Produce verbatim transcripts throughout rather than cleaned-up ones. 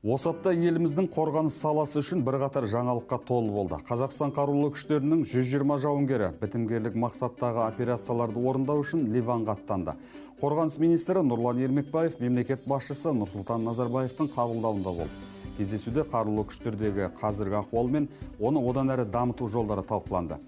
Осы апта еліміздің қорғаныс саласы үшін бірқатар жаңалыққа толы болды. Қазақстан қарулы күштерінің жүз жиырма жауынгері бітімгерлік мақсаттағы операцияларды орындау үшін Ливанға аттанды. Қорғаныс министрі Нұрлан Ермекбаев мемлекет басшысы Нұрсұлтан Назарбаевтың қабылдауында болды. Кездесуде қарулы күштердегі қазіргі ахуал мен оны одан әрі дамыту жолдары талқыланды.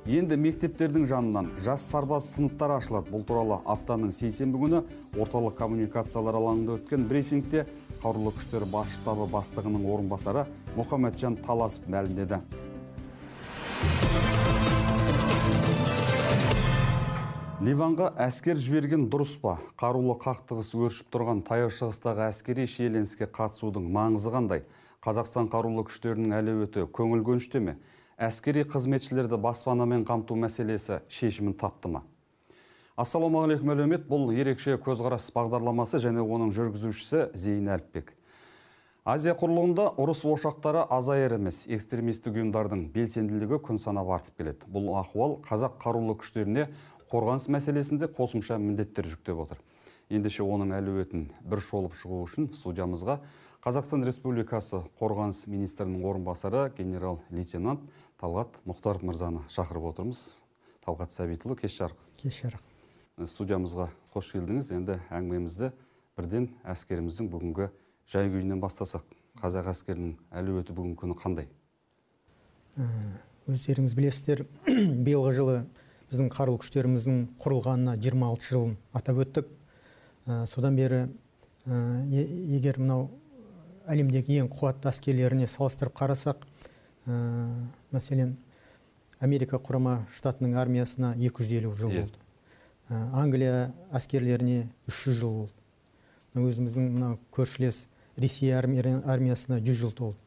Енді мектептердің жанынан жас сарбаз сыныптары ашылады. Бұл туралы аптаның сейсенбі күні орталық коммуникациялар алаңында өткен брифингте қарулы күштері бас штабы бастығының орынбасары Мұхамеджан Таласов мәлімдеді. Ливанға әскер жіберген дұрыс па? Қарулы қақтығыс өршіп тұрған Таяу Шығыстағы әскери шиеленіске қатысудың маңызы қандай? Қазақстан қарулы күштерінің әлеуеті көңіл көншіте ме? Әскери қызметшілерді баспанамен қамту мәселесі шешімін тапты ма? Ассалаумағалейкум әлеумет, бұл ерекше көзқарас бағдарламасы және оның жүргізушісі Зейін Әліпбек. Азия құрлығында ұрыс ошақтары азайар емес, экстремистік ұйымдардың белсенділігі күн санап артып келеді. Бұл ахуал қазақ қарулы күштеріне қорғаныс мәселесінде қосымша міндеттер жүктеп отыр. Ендеше оның әлеуетін бір шолып шығу үшін студиямызға Қазақстан Республикасы қорғаныс министрінің орынбасары генерал-лейтенант Талғат Мұхтаров мырзаны шақырып отырмыз. Талғат Сәбитұлы, кеш жарық. Кеш жарық. Студиямызға қош келдіңіз. Енді әңгімемізді бірден әскеріміздің бүгінгі жай-күйінен бастасақ. Қазақ әскерінің әлеуеті бүгінгі күні қандай? Өздеріңіз білесіздер, биылғы жылы біздің қарулы күштеріміздің құрылғанына жиырма алты жылын атап өттік. Содан бері егер мынау әлемдегі ең қуатты әскерлеріне салыстырып қарасақ, мәселен, Америка құрама штатының армиясына екі жүз елу жыл болды. Англия әскерлеріне үш жүз жыл болды. Өзіміздің мынау көршілес Ресей армиясына жүз жыл толды.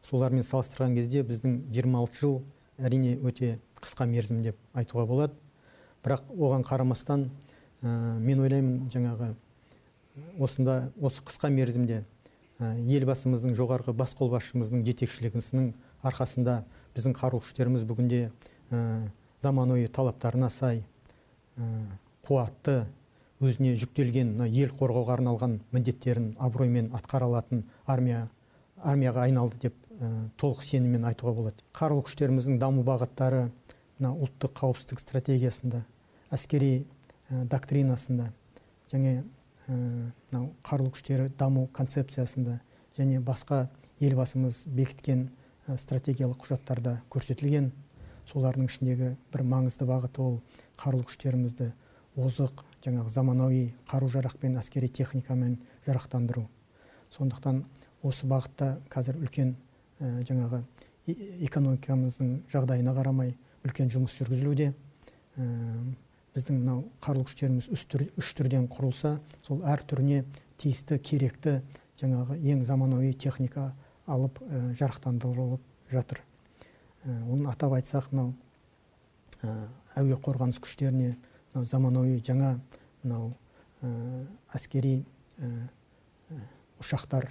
Солармен салыстырған кезде біздің жиырма алты жыл әрине өте қысқа мерзім деп айтуға болады. Бірақ оған қарамастан, мен ойлаймын, жаңағы осында осы қысқа мерзімде елбасымыздың жоғарғы бас қолбасшымыздың жетекшілігінің арқасында біздің қарулы күштеріміз бүгінде заманауи талаптарына сай, қуатты, өзіне жүктелген ел қорғауға арналған міндеттерін абыроймен атқара алатын армия армияға айналды деп толық сеніммен айтуға болады. Қарулы күштеріміздің даму бағыттары ұлттық қауіпсіздік стратегиясында, әскери доктринасында, және қарулы күштері даму концепциясында және басқа елбасымыз бекіткен стратегиялық құжаттарда көрсетілген. Солардың ішіндегі бір маңызды бағыты ол қарулы күштерімізді озық, жаңағы заманауи қару-жарақпен, әскери техникамен жарақтандыру. Сондықтан осы бағытта қазір үлкен жаңағы экономикамыздың жағдайына қарамай үлкен жұмыс жүргізілуде. Біздің мынау қарулы күштеріміз үш түрден құрылса, сол әр түріне тиісті, керекті жаңағы ең заманауи техника алып жарақтандырылып жатыр. Оны атап айтсақ, мынау әуе қорғаныс күштеріне заманауи жаңа мынау әскери ұшақтар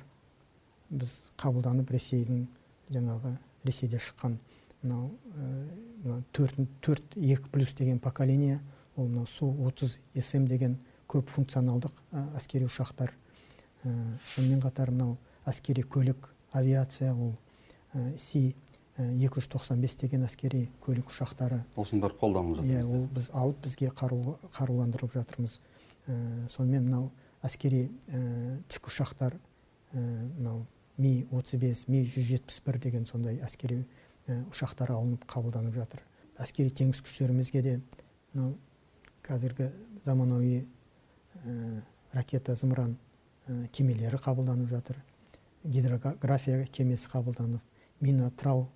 біз қабылданып, Ресейдің жаңағы Ресейде шыққан мынау төрт екі плюс деген поколение, ол Су отыз эс эм деген көп функционалдық әскери ұшақтар. Сонымен қатар мынау әскери көлік, авиация, ол Си екі жүз тоқсан бес деген әскери көлік ұшақтары. Осындар қолданылып жатырмыз. Ол біз алып, бізге қаруландырылып жатырмыз. Сонымен мынау әскери тікұшақтар, мынау Ми отыз бес, Ми жүз жетпіс бір деген сондай әскери ұшақтар алынып қабылданып жатыр. Әскери теңіз күштерімізге де мынау қазіргі заманауи ракета зымыран кемелері қабылданып жатыр. Гидрография кемесі қабылданып, мина-трал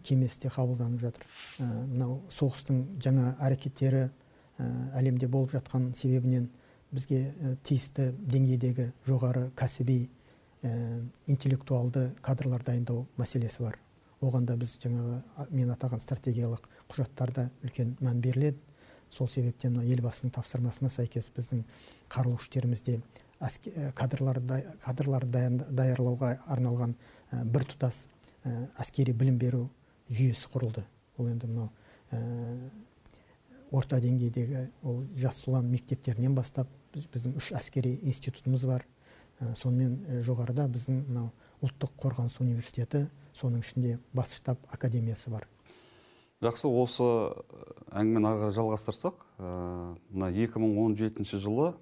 кемесі де қабылданып жатыр. Мынау соғыстың жаңа әрекеттері әлемде болып жатқан себебінен бізге тиісті деңгейдегі жоғары кәсіби интеллектуалды кадрлар дайындау мәселесі бар. Оғанда біз жаңағы мен атаған стратегиялық құжаттарда үлкен мән беріледі. Сол себептен елбасының тапсырмасына сәйкес біздің қарулы күштерімізде кадрларды даярлауға арналған бір тұтас әскери білім беру жүйесі құрылды. Ол енді мынау орта деңгейдегі ол жас ұлан мектептерінен бастап біздің үш әскери институтымыз бар. Сонымен жоғарыда біздің ұлттық қорғаныс университеті, соның ішінде бас штаб академиясы бар. Жақсы, осы әңгімені ары жалғастырсақ, мына екі мың он жетінші жылы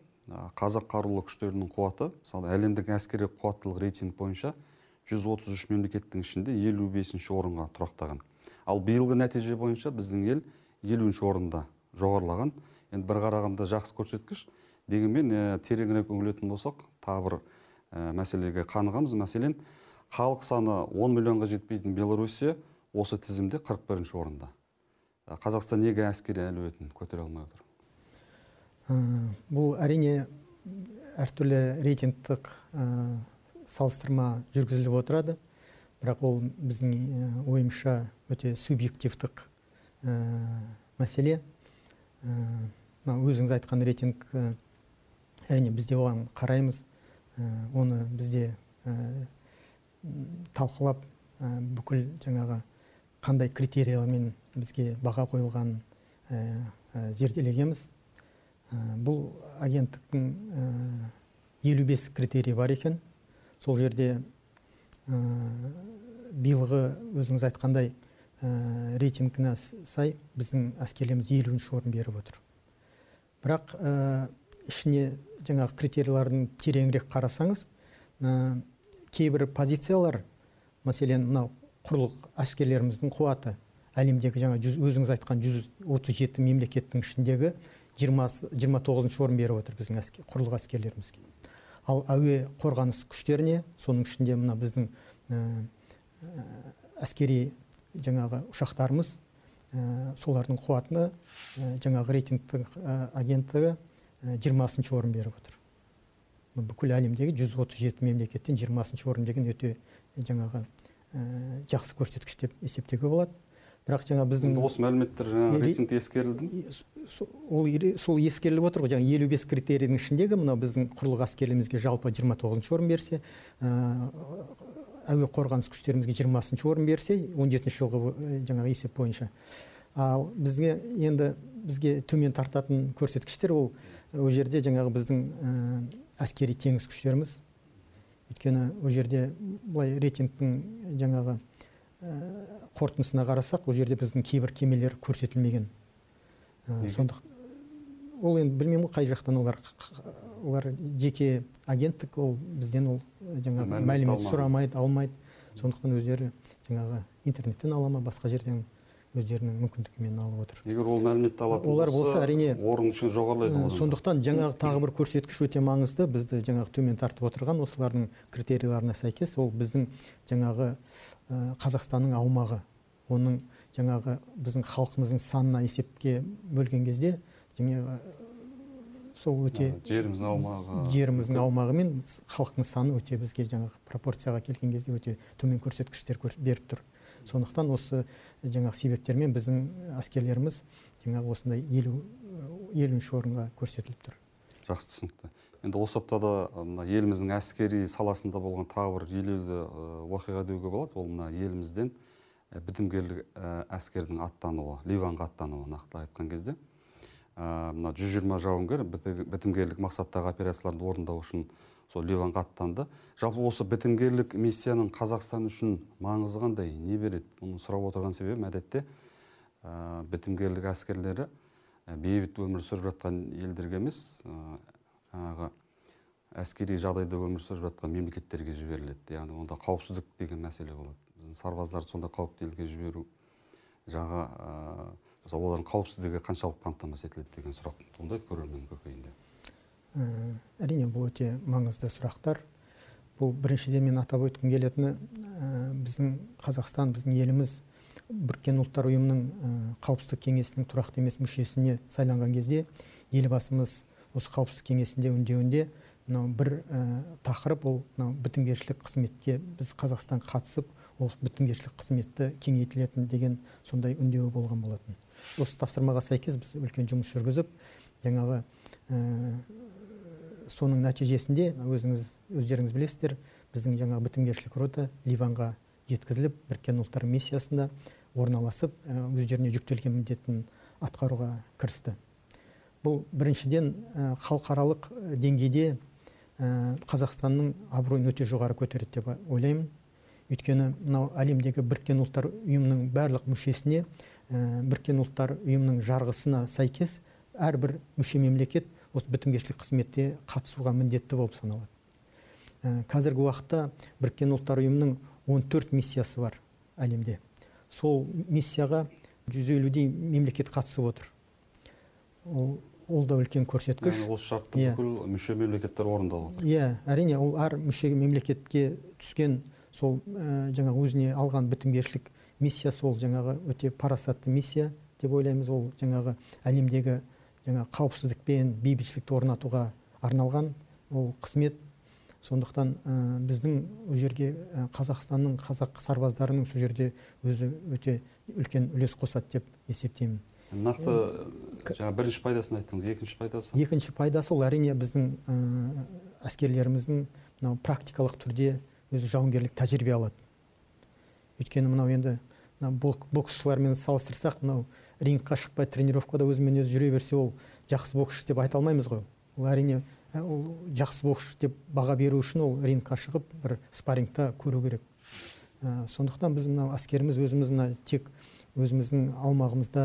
қазақ қарулы күштерінің қуаты, мысалы әлемдік әскери қуаттылық рейтинг бойынша жүз отыз үш мемлекеттің ішінде елу бесінші орынға тұрақтаған. Ал биылғы нәтиже бойынша біздің ел елуінші орында жоғарылаған. Енді бір қарағанда жақсы көрсеткіш. Дегенмен тереңірек үңілетін болсақ, тағы бір мәселеге қанығамыз. Мәселен, халық саны он миллионға жетпейтін Белоруссия осы тізімде қырық бірінші орында. Қазақстан неге әскери әлеуетін көтере алмай отыр? Бұл әрине әртүрлі рейтингтік салыстырма жүргізіліп отырады, бірақ ол біздің ойымша өте субъективтік мәселе. Өзіңіз айтқан рейтинг, әрине бізде оған қараймыз, оны бізде талқылап, бүкіл жаңағы қандай критериялармен бізге баға қойылған зерделегенбіз. Бұл агенттіктің елу бес критерий бар екен. Сол жерде биылғы өзіңіз айтқандай рейтингіне сай біздің әскерлеріміз елуінші орын беріп отыр. Бірақ ішіне жаңағы критериялардың тереңірек қарасаңыз, кейбір позициялар, мәселен, мынау құрлық әскерлеріміздің қуаты, әлемдегі жаңа өзіңіз айтқан жүз отыз жеті мемлекеттің ішіндегі жиырма тоғызыншы орын беріп отыр біздің құрлық әскерлерімізге. Ал әуе қорғаныс күштеріне, соның ішінде мына біздің әскери жаңағы ұшақтарымыз, солардың қуатына жаңағы рейтингтік агенттігі жиырмасыншы орын беріп отыр. Бүкіл әлемдегі жүз отыз жеті мемлекеттен жиырмасыншы орын деген өте жаңағы жақсы көрсеткіш деп есептеуге болады. Бірақ жаңа біздің осы мәліметтер жаңа рейтингте ескерілді. Сол ескеріліп отыр ғой, жаңа елу бес критерийдің ішіндегі мына біздің құрлық әскерлерімізге жалпы жиырма тоғызыншы орын берсе, әуе қорғаныс күштерімізге жиырмасыншы орын берсе, он жетінші жылғы жаңағы есеп бойынша. Ал бізге енді бізге төмен тартатын көрсеткіштер ол ол жерде жаңағы біздің әскери теңіз күштеріміз. Өйткені ол жерде былай рейтингтің жаңағы қорытындысына қарасақ, ол жерде біздің кейбір кемелер көрсетілмеген. Сондықтан ол енді білмеймін қай жақтан олар олар жеке агенттік, ол бізден ол жаңағы мәлімет сұрамайды, алмайды. Сондықтан өздері жаңағы интернеттен ала ма, басқа жерден өздерінің мүмкіндігімен алып отыр. Егер ол мәліметті алатын олар болса, әрине орын үшін жоғарылайды. Сондықтан жаңағы тағы бір көрсеткіш өте маңызды. Бізді жаңағы төмен тартып отырған осылардың критерияларына сәйкес, ол біздің жаңағы Қазақстанның аумағы, оның жаңағы біздің халқымыздың санына есепке бөлген кезде, жаңағы сол өте жеріміздің аумағы, жеріміздің аумағы мен халықтың саны өте бізге жаңағы пропорцияға келген кезде өте төмен көрсеткіштер беріп тұр. Сондықтан осы жаңағы себептермен біздің әскерлеріміз жаңағы осындай елуінші орынға көрсетіліп тұр. Жақсы түсінікті. Енді осы аптада еліміздің әскери саласында болған тағы бір елеулі оқиға деуге болады. Ол мына елімізден бітімгерлік әскердің аттануы, Ливанға аттануы, нақты айтқан кезде. Мына жүз жиырма жауынгер бітімгерлік мақсаттағы операцияларды орындау үшін сол Ливанға аттанды. Жалпы осы бітімгерлік миссияның Қазақстан үшін маңызы қандай, не береді? Оны сұрап отырған себебім, әдетте бітімгерлік әскерлері бейбіт өмір сүріп жатқан елдерге емес, жаңағы әскери жағдайда өмір сүріп жатқан мемлекеттерге жіберіледі. Яғни онда қауіпсіздік деген мәселе болады. Біздің сарбаздарды сонда қауіпті елге жіберу жағы, олардың қауіпсіздігі қаншалық қамтамасыз етіледі деген сұрақ туындайды көрермен көкейінде. Әрине, бұл өте маңызды сұрақтар. Бұл біріншіден мен атап өткім келетіні, біздің Қазақстан, біздің еліміз Біріккен ұлттар ұйымының қауіпсіздік кеңесінің тұрақты емес мүшесіне сайланған кезде, елбасымыз осы қауіпсіздік кеңесінде үндеуінде бір тақырып, ол бітімгершілік қызметке біз Қазақстан қатысып, ол бітімгершілік қызметті кеңейтілетін деген сондай үндеуі болған болатын. Осы тапсырмаға сәйкес біз үлкен жұмыс жүргізіп, жаңағы соның нәтижесінде өзіңіз өздеріңіз білесіздер, біздің жаңа бітімгершілік рота Ливанға жеткізіліп, Біріккен ұлттар миссиясында орналасып, өздеріне жүктелген міндетін атқаруға кірісті. Бұл біріншіден халықаралық деңгейде Қазақстанның абыройын өте жоғары көтереді деп ойлаймын. Өйткені мынау әлемдегі біріккен ұлттар ұйымының барлық мүшесіне, біріккен ұлттар ұйымының жарғысына сәйкес әрбір мүше мемлекет осы бітімгершілік қызметте қатысуға міндетті болып саналады. Қазіргі уақытта біріккен ұлттар ұйымының он төрт миссиясы бар әлемде. Сол миссияға жүз елудей мемлекет қатысып отыр. Ол, ол да үлкен көрсеткіш. Яғни осы шартты бүкіл мүше мемлекеттер орындап отыр. Иә, әрине ол әр мүше мемлекетке түскен сол жаңағы өзіне алған бітімгершілік миссиясы, ол жаңағы өте парасатты миссия деп ойлаймыз. Ол жаңағы әлемдегі жаңағы қауіпсіздік пен бейбітшілікті орнатуға арналған ол қызмет. Сондықтан біздің ол жерге Қазақстанның, қазақ сарбаздарының сол жерде өзі өте үлкен үлес қосады деп есептеймін. Нақты жаңа бірінші пайдасын айттыңыз, екінші пайдасы? Екінші пайдасы ол әрине біздің әскерлеріміздің мынау практикалық түрде өзі жауынгерлік тәжірибе алады. Өйткені мынау енді боксшылармен салыстырсақ, мынау рингқа шықпай тренировкада өзімен өзі жүре берсе, ол жақсы боксшы деп айта алмаймыз ғой. Ол әрине ол жақсы боксшы деп баға беру үшін ол рингқа шығып бір спаррингта көру керек. Сондықтан біз мынау әскеріміз өзіміз мына тек өзіміздің аумағымызда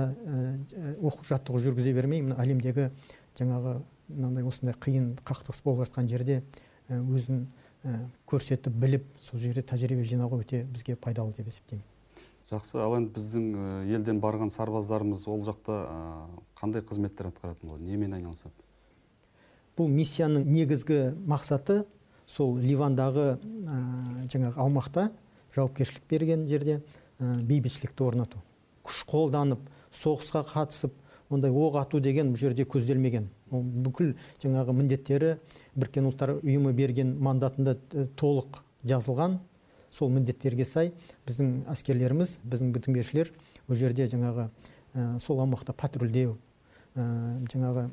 оқу жаттығу жүргізе бермей, мына әлемдегі жаңағы мынандай осындай қиын қақтығыс болып жатқан жерде өзін көрсетіп біліп, сол жерде тәжірибе жинауға өте бізге пайдалы деп есептеймін. Жақсы, ал енді біздің елден барған сарбаздарымыз ол жақта қандай қызметтер атқаратын болады, немен айналысады? Бұл миссияның негізгі мақсаты сол Ливандағы жаңағы аумақта жауапкершілік берген жерде бейбітшілікті орнату. Күш қолданып, соғысқа қатысып, ондай оқ ату деген бұл жерде көзделмеген. Ол бүкіл жаңағы міндеттері біріккен ұлттар ұйымы берген мандатында толық жазылған. Сол міндеттерге сай біздің әскерлеріміз, біздің бітімгершілер ол жерде жаңағы сол аумақта патрульдеу, жаңағы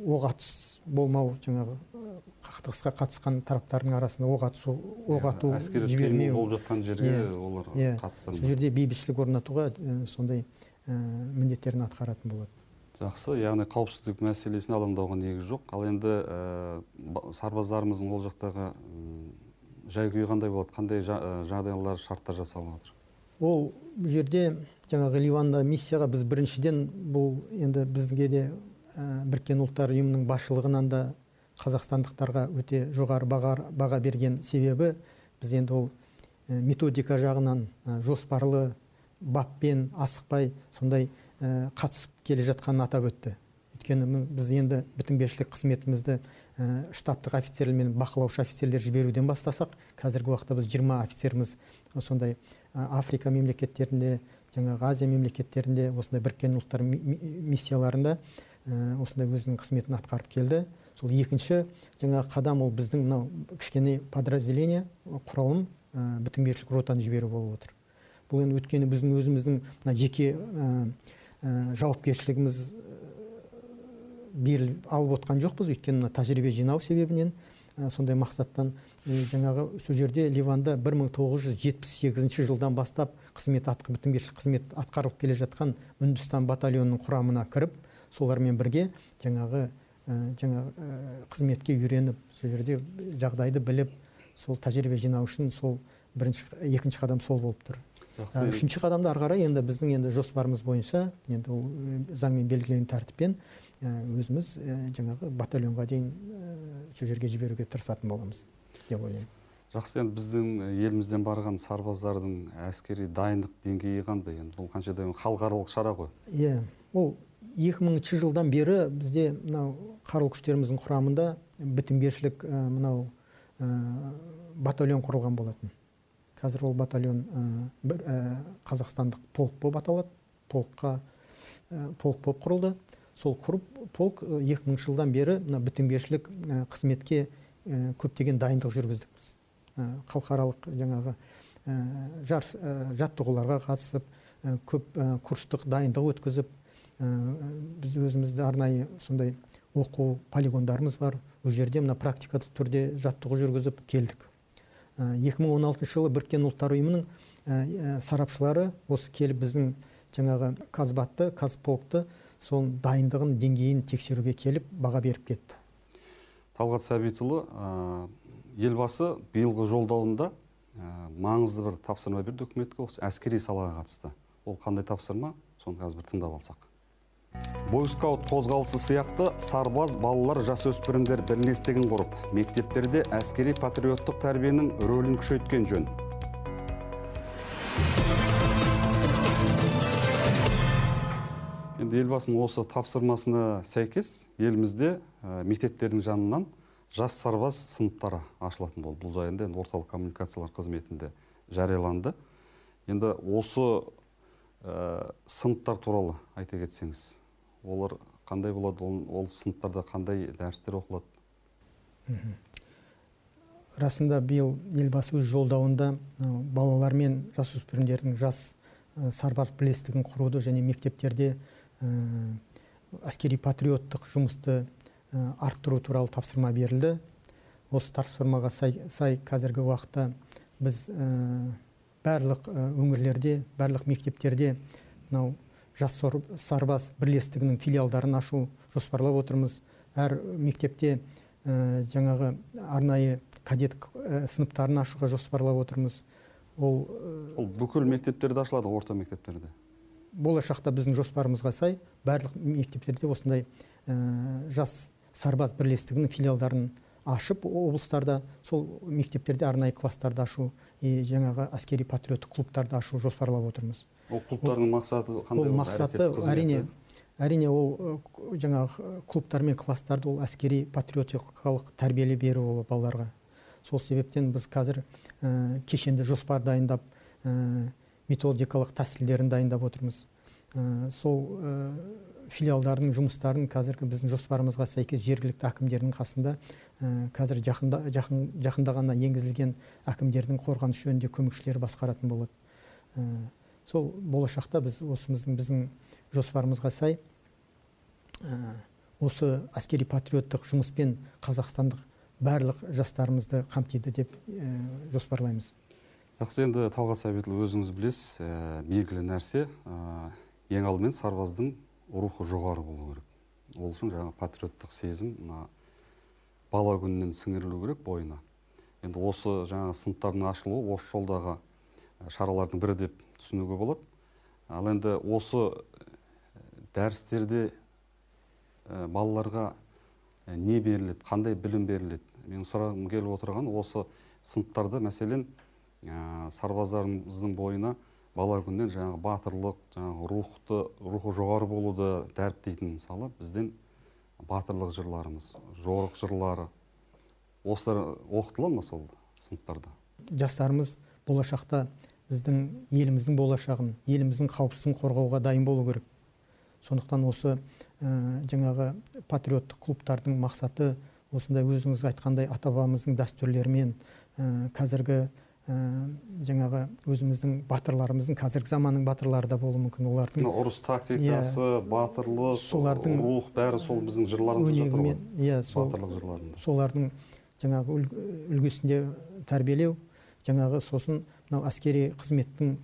оқ атыс болмау, жаңағы қақтығысқа қатысқан тараптардың арасында оқ ату, оқ ату жібермеу болып жатқан жерге олар қатыстырмайды. Сол жерде бейбітшілік орнатуға сондай міндеттерін атқаратын болады. Жақсы, яғни қауіпсіздік мәселесін алаңдауға негіз жоқ. Ал енді сарбаздарымыздың ол жақтағы жай-күйі қандай болады, қандай жағдайлар, шарттар жасалып отыр? Ол жерде жаңағы Ливанда миссияға біз біріншіден бұл енді бізге де біріккен ұлттар ұйымының басшылығынан да қазақстандықтарға өте жоғары баға берген себебі біз енді ол методика жағынан жоспарлы баппен асықпай сондай қатысып келе жатқанын атап өтті. Өйткені біз енді бітімгершілік қызметімізді штабтық офицерлер мен бақылаушы офицерлер жіберуден бастасақ, қазіргі уақытта біз жиырма офицеріміз сондай Африка мемлекеттерінде, жаңағы Азия мемлекеттерінде, осындай біріккен ұлттар миссияларында осындай өзінің қызметін атқарып келді. Сол екінші жаңағы қадам ол біздің мынау кішкене подразделение, құралым бітімгершілік ротаны жіберу болып отыр. Бұл енді өткені біздің өзіміздің жеке жауапкершілігіміз беріліп алып отқан жоқпыз, өйткені тәжірибе жинау себебінен сондай мақсаттан жаңағы сол жерде Ливанда бір мың тоғыз жүз жетпіс сегізінші жылдан бастап қызмет атқы бітімгершілік қызмет атқарылып келе жатқан Үндістан батальонының құрамына кіріп, солармен бірге жаңағы жаңағы қызметке үйреніп, сол жерде жағдайды біліп, сол тәжірибе жинау үшін сол бірінші, екінші қадам сол болып тұр. Үшінші қадамда ары қарай енді біздің енді жоспарымыз бойынша, енді ол заңмен белгіленген тәртіппен өзіміз жаңағы батальонға дейін сол жерге жіберуге тырысатын боламыз деп ойлаймын. Жақсы, енді біздің елімізден барған сарбаздардың әскери дайындық деңгейі қандай? Енді бұл қаншадай халықаралық шара ғой? Иә, ол екі мыңыншы жылдан бері бізде мынау қарулы күштеріміздің құрамында бітімгершілік мынау батальон құрылған болатын. Қазір ол батальон бір қазақстандық полк болып аталады. Полкқа полк болып құрылды. Сол құрып полк екі мыңыншы жылдан бері бітімгершілік қызметке көптеген дайындық жүргіздік. Халықаралық жаңағы жаттығуларға қатысып, көп курстық дайындық өткізіп, біз өзімізді арнайы сондай оқу полигондарымыз бар. Ол жерде мына практикалық түрде жаттығу жүргізіп келдік. екі мың он алтыншы жылы біріккен ұлттар ұйымының сарапшылары осы келіп біздің жаңағы Казбатты, Казполкты сол дайындығын деңгейін тексеруге келіп баға беріп кетті. Талғат Сәбитұлы, елбасы биылғы жолдауында маңызды бір тапсырма берді үкіметке, осы әскери салаға қатысты. Ол қандай тапсырма? Соны қазір бір тыңдап алсақ. Бойскаут қозғалысы сияқты сарбаз балалар жасөспірімдер бірлестігін құрып, мектептерде әскери патриоттық тәрбиенің рөлін күшейткен жөн. Енді елбасының осы тапсырмасына сәйкес елімізде мектептердің жанынан жас сарбаз сыныптары ашылатын болды. Бұл жайында орталық коммуникациялар қызметінде жарияланды. Енді осы сыныптар туралы айта кетсеңіз, олар қандай болады, ол сыныптарда қандай дәрістер оқылады? Расында биыл елбасы өз жолдауында балалар мен жасөспірімдердің жас сарбаз бірлестігін құруды және мектептерде әскери патриоттық жұмысты арттыру туралы тапсырма берілді. Осы тапсырмаға сай қазіргі уақытта біз барлық өңірлерде, барлық мектептерде мынау жас сарбаз бірлестігінің филиалдарын ашу жоспарлап отырмыз. Әр мектепте жаңағы арнайы кадет сыныптарын ашуға жоспарлап отырмыз. Ол бүкіл мектептерде ашылады, орта мектептерде? Болашақта біздің жоспарымызға сай барлық мектептерде осындай жас сарбаз бірлестігінің филиалдарын ашып, облыстарда сол мектептерде арнайы класстарды ашу, жаңағы әскери патриоттық клубтарды ашу жоспарлап отырмыз. Ол клубтардың мақсаты қандай? Ол мақсаты әрине, әрине ол жаңағы клубтар мен класстарды ол әскери патриоттикалық тәрбиелі беру ол балаларға. Сол себептен біз қазір кешенді жоспар дайындап, методикалық тәсілдерін дайындап отырмыз. Сол филиалдардың жұмыстарын қазіргі біздің жоспарымызға сәйкес жергілікті әкімдердің қасында қазір жақында ғана енгізілген әкімдердің қорғаныс жөнінде көмекшілері басқаратын болады. Сол болашақта біз осымыздың біздің жоспарымызға сай осы әскери патриоттық жұмыспен қазақстандық барлық жастарымызды қамтиды деп жоспарлаймыз. Жақсы, енді Талғат Сәбитұлы, өзіңіз білесіз, белгілі нәрсе, ең алдымен сарбаздың рухы жоғары болу керек. Ол үшін жаңа патриоттық сезім бала күнінен сіңірілу керек бойына. Енді осы жаңа сыныптардың ашылуы осы жолдағы шаралардың бірі деп түсінуге болады. Ал енді осы дәрістерде балаларға не беріледі, қандай білім беріледі? Мен сұрағым келіп отырған осы сыныптарда мәселен сарбаздарымыздың бойына бала күннен жаңағы батырлық, жаңағы рухты, рухы жоғары болуды дәріптейтін, мысалы, бізден батырлық жырларымыз, жорық жырлары, осылар оқытылады ма сол сыныптарда? Жастарымыз болашақта біздің еліміздің болашағын, еліміздің қауіпсіздігін қорғауға дайын болу керек. Сондықтан осы жаңағы патриоттық клубтардың мақсаты осындай өзіңіз айтқандай ата-бабамыздың дәстүрлерімен қазіргі жаңағы өзіміздің батырларымыздың қазіргі заманның батырлары да болуы мүмкін. Олардың ұрыс тактикасы, батырлық, рух бәрі сол біздің жырларымызда жатыр ғой. Иә, батырлық жырларында. Солардың жаңағы үлгісінде тәрбиелеу, жаңағы сосын мынау әскери қызметтің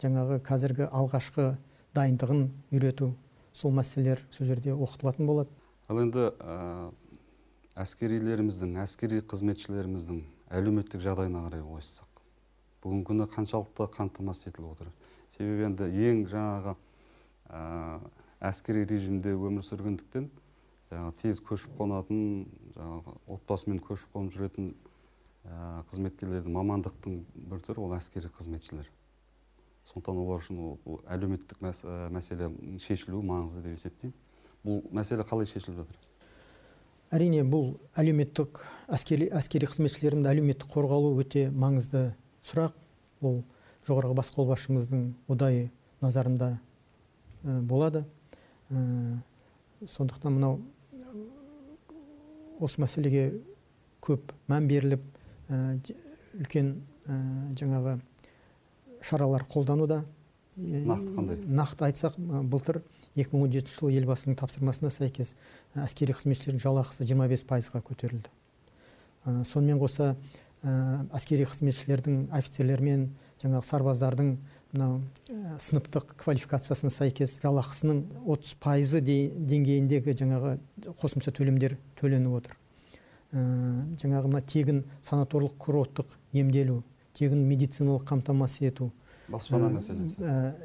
жаңағы қазіргі алғашқы дайындығын үйрету, сол мәселелер сол жерде оқытылатын болады. Ал енді әскерилеріміздің, әскери қызметшілеріміздің әлеуметтік жағдайына қарай ойыссақ, бүгінгі күні қаншалықты қамтамасыз етіліп отыр? Себебі енді ең жаңағы әскери режимде өмір сүргендіктен тез көшіп қонатын, отбасымен көшіп қонып жүретін қызметкерлердің мамандықтың бір түрі ол әскери қызметшілер. Сондықтан олар үшін әлеуметтік мәселе шешілуі маңызды деп есептеймін. Бұл мәселе қалай шешіліп жатыр? Әрине, бұл әлеуметтік әскери қызметшілердің әлеуметтік қорғалуы өте маңызды сұрақ. Ол жоғарғы бас қолбасшымыздың ұдайы назарында болады. Сондықтан мынау осы мәселеге көп мән беріліп, үлкен жаңағы шаралар қолдануда. Нақты қандай? Нақты айтсақ, былтыр екі мың он жетінші жылы елбасының тапсырмасына сәйкес әскери қызметшілердің жалақысы жиырма бес пайызға көтерілді. Сонымен қоса әскери қызметшілердің, офицерлер мен жаңағы сарбаздардың сыныптық квалификациясына сәйкес жалақысының отыз пайызы деңгейіндегі жаңағы қосымша төлемдер төленіп отыр. жаңағы мына тегін санаторлық курорттық емделу, тегін медициналық қамтамасыз ету. Баспана мәселесі.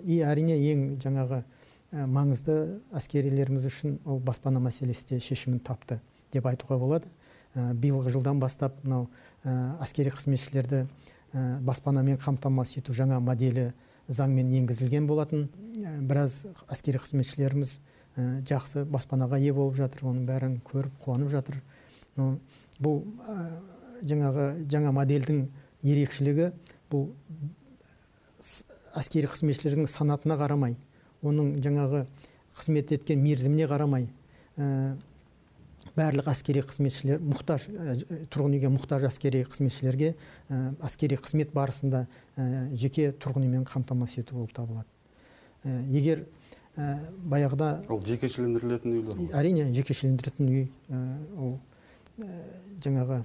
И әрине ең жаңағы маңызды әскерилеріміз үшін ол баспана мәселесі де шешімін тапты деп айтуға болады. Биылғы жылдан бастап мынау әскери қызметшілерді баспанамен қамтамасыз ету жаңа моделі заңмен енгізілген болатын. Біраз әскери қызметшілеріміз жақсы баспанаға ие болып жатыр, оның бәрін көріп қуанып жатыр. Бұл жаңағы жаңа модельдің ерекшелігі бұл әскери қызметшілердің санатына қарамай, оның жаңағы қызмет еткен мерзіміне қарамай, барлық әскери қызметшілер мұқтаж, тұрғын үйге мұқтаж әскери қызметшілерге әскери қызмет барысында жеке тұрғын үймен қамтамасыз ету болып табылады. Егер баяғыда ол жекешелендірілетін үйлер ғой. Әрине жекешелендіретін үй, ол жаңағы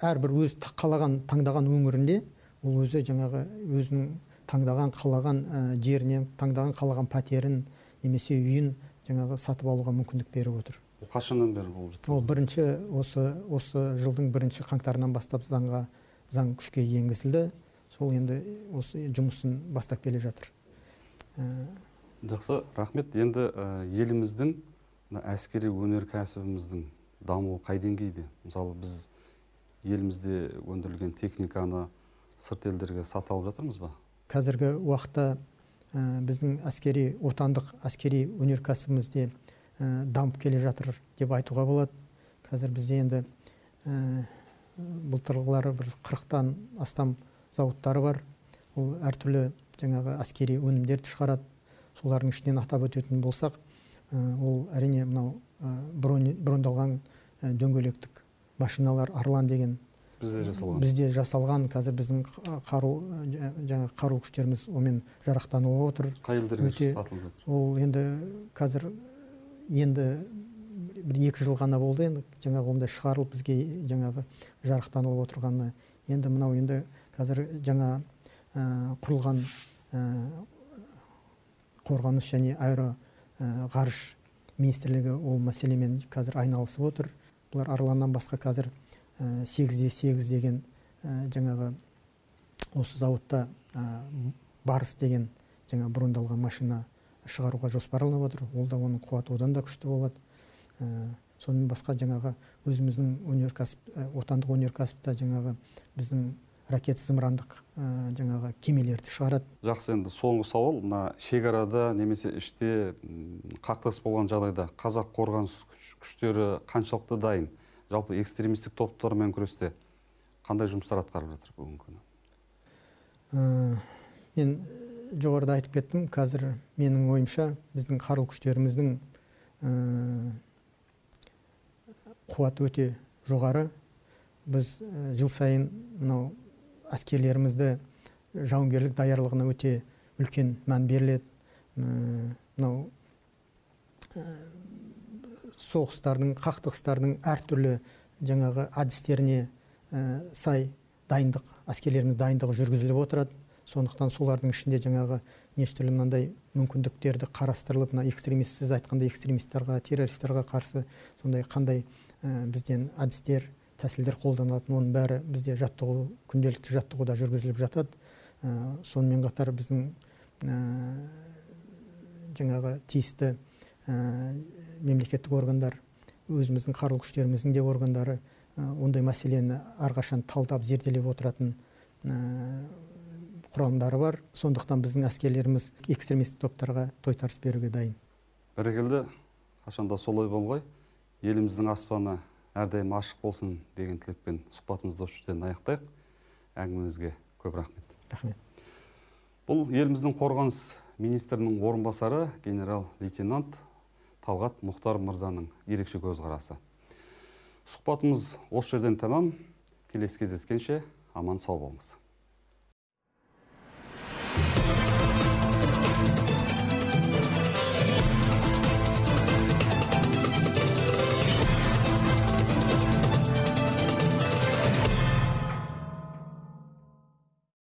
әрбір өз қалаған таңдаған өңірінде ол өзі жаңағы өзінің таңдаған қалаған жерінен таңдаған қалаған пәтерін немесе үйін жаңағы сатып алуға мүмкіндік беріп отыр. Ол қашаннан бері болып жатыр? Ол бірінші осы осы жылдың бірінші қаңтарынан бастап заңға заң күшке енгізілді. Сол енді осы жұмысын бастап келе жатыр. Жақсы, рахмет. Енді еліміздің әскери өнеркәсібіміздің дамуы қай деңгейде? Мысалы біз елімізде өндірілген техниканы сырт елдерге сатып алып жатырмыз ба? Қазіргі уақытта біздің әскери отандық әскери өнеркәсібімізде дамып келе жатыр деп айтуға болады. Қазір бізде енді былтырғылары бір қырықтан астам зауыттары бар. Ол әртүрлі жаңағы әскери өнімдерді шығарады. Солардың ішінен атап өтетін болсақ, ол әрине мынау брондалған дөңгелектік машиналар Арлан деген бізде жасалған. Бізде жасалған, қазір біздің қару жаңа қару күштеріміз онымен жарақтанып отыр. Қай елдерге сатылып жатыр? Ол енді қазір енді бір екі жыл ғана болды енді жаңағы ондай шығарылып бізге жаңағы жарақтанып отырғаны. Енді мынау енді қазір жаңа құрылған қорғаныс және аэро ғарыш министрлігі ол мәселемен қазір айналысып отыр. Бұлар Арланнан басқа қазір сегіз де сегіз деген жаңағы осы зауытта Барыс деген жаңа брондалған машина шығаруға жоспарланып отыр. Ол да оның қуаты одан да күшті болады. Сонымен басқа жаңағы өзіміздің өнеркәсіп, отандық өнеркәсіпте жаңағы біздің ракет зымырандық жаңағы кемелерді шығарады. Жақсы, енді соңғы сауал, мына шекарада немесе іште қақтығыс болған жағдайда қазақ қорғаныс күштері қаншалықты дайын? Жалпы экстремистік топтармен күресте қандай жұмыстар атқарып жатыр бүгінгі күні? Мен жоғарыда айтып кеттім, қазір менің ойымша біздің қарулы күштеріміздің қуаты өте жоғары. Біз жыл сайын мынау әскерлерімізді жауынгерлік даярлығына өте үлкен мән беріледі. Мынау соғыстардың, қақтығыстардың әртүрлі жаңағы әдістеріне сай дайындық, әскерлеріміз дайындығы жүргізіліп отырады. Сондықтан солардың ішінде жаңағы неше түрлі мынандай мүмкіндіктерді қарастырылып, мына экстремист, сіз айтқандай экстремистерға, террористерға қарсы сондай қандай бізден әдістер, тәсілдер қолданатын, оның бәрі бізде жаттығу, күнделікті жаттығуда жүргізіліп жатады. Сонымен қатар біздің жаңағы тиісті мемлекеттік органдар, өзіміздің қарулы күштеріміздің де органдары ондай мәселені әрқашан талдап зерделеп отыратын құрамдары бар. Сондықтан біздің әскерлеріміз экстремистік топтарға тойтарыс беруге дайын. Бәрекелді, қашанда солай болғай. Еліміздің аспаны әрдайым ашық болсын деген тілекпен сұхбатымызды осы жерден аяқтайық. Әңгімеңізге көп рахмет. Рахмет. Бұл еліміздің қорғаныс министрінің орынбасары генерал-лейтенант Талғат Мұхтар мырзаның ерекше көзқарасы. Сұхбатымыз осы жерден тәмам. Келесі кездескенше аман сау болыңыз.